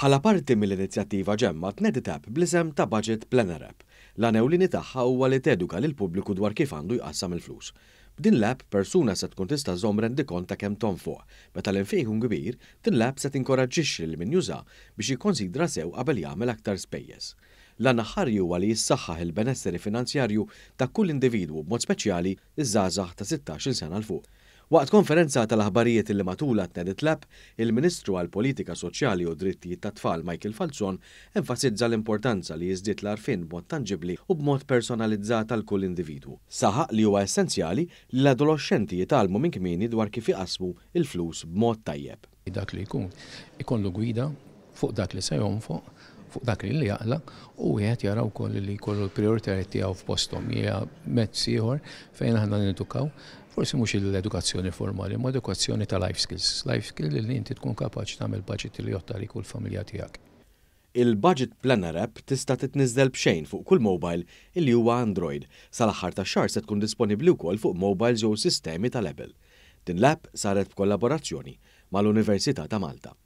Bħala parti mill-inizjattiva Ġemma tnediet app bl-isem ta' Budget Planner App. L-għan ewlieni tagħha huwa li teduka lill-pubbliku dwar kif għandu jqassam il-flus. B'din l-app persuna se tkun tista' żżomm rendikont ta' kemm tonfoq. Meta l-infiq ikun kbir, din l-app se tinkoraġġixxi lil min juża biex jikkonsidra sew qabel jagħmel aktar spejjeż. L-għan aħħari huwa li jissaħħaħ il-benesseri finanzjarju ta' kull individwu, b'mod speċjali ż-żgħażagħ ta' 16-il sena 'l fuq. Waqt konferenza tal-aħbarijiet li matulha tnediet l-app, il-Ministru għall-Politika Soċjali u Drittijiet tat-Tfal Michael Falzon enfasizza l-importanza li jiżdied l-għarfien b'mod tanġibbli u b'mod personalizzat għal kull individwu. Saħaq li huwa essenzjali li l-adoloxxenti jitgħallmu minn kmieni dwar kif iqassmu l-flus b'mod tajjeb. Dak li jkun ikollu gwida fuq dak li se jonfoq, fuq dak li jaqla' u wieħed jara wkoll li jkollu l-prijoritajiet tiegħu f'posthom. Hija mezz ieħor fejn aħna nedukaw, forsi mhux l-edukazzjoni formali, ma edukazzjoni ta' life skills. Life skill li inti tkun kapaċi tagħmel budget li jgħodd għalik u l-familja tiegħek. Il-Budget Planner App tista' titniżżel b'xejn fuq kull mobile illi huwa Android. Sal-aħħar tax-xahar se tkun disponibbli wkoll fuq mobiles jew sistemi tal-Apple. Din l-app saret b'kollaborazzjoni mal-Università ta' Malta.